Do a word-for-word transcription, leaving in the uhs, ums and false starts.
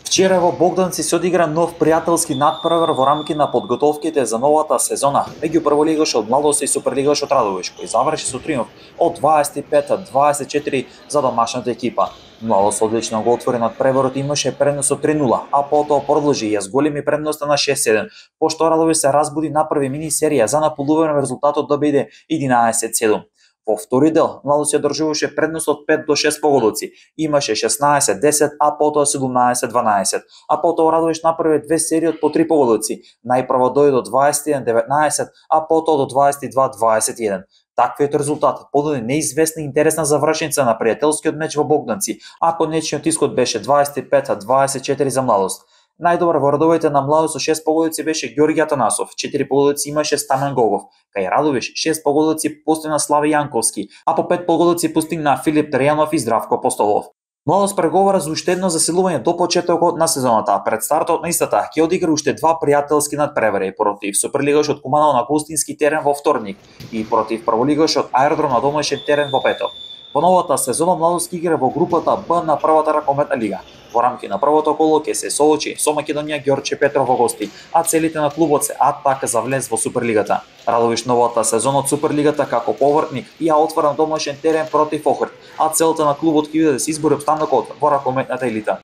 Вчера во Богданци се одигра нов пријателски натпревар во рамки на подготовките за новата сезона меѓу прволигашот Младост и суперлигашот Радовиш, кој заврши со триумф од дваесет и пет дваесет и четири за домашната екипа. Младост одлично го отвори надпреварот и имаше предност од три нула, а потоа продолжи ја зголеми предноста на шест седум, пошто Радовиш се разбуди направи мини серија за наполување на резултатот да биде единаесет седум. Во втори дел, Младост ја држуваше предност од пет до шест погодоци, имаше шеснаесет десет, а потоа седумнаесет дванаесет, а потоа Радовиш направи две серии од по три погодоци, најпрво дојде до дваесет и еден деветнаесет, а потоа до дваесет и два дваесет и еден. Таквиот резултат подаде неизвестна и интересна завршница на пријателскиот меч во Богданци, ако нечиот исход беше дваесет и пет дваесет и четири за Младост. Најдобар во редовите на Младост со шест погодици беше Ѓорги Атанасов, четири погодици имаше Стамен Гогов, кај Радовиш шест погодици постигна Слави Јанковски, а по пет погодици постигна Филип Тријанов и Здравко Апостолов. Младост преговара за уште едно заселување до почетокот на сезоната, а пред стартот на истата ќе одигра уште два пријателски надпревари против суперлигашот Куманово на гостински терен во вторник и против прволигашот Аеродром на домашен терен во петок. Во новата сезона Младост игра во групата Б на првата ракометна лига. Во рамки на првото коло ќе се соочи со Македонија Ѓорче Петров во гости, а целите на клубот се атака за влез во Суперлигата. Радовиш новата сезона од Суперлигата како повртник ја отвара на домашен терен против Охрид, а целта на клубот ќе биде да се избори опстанокот во ракометната елита.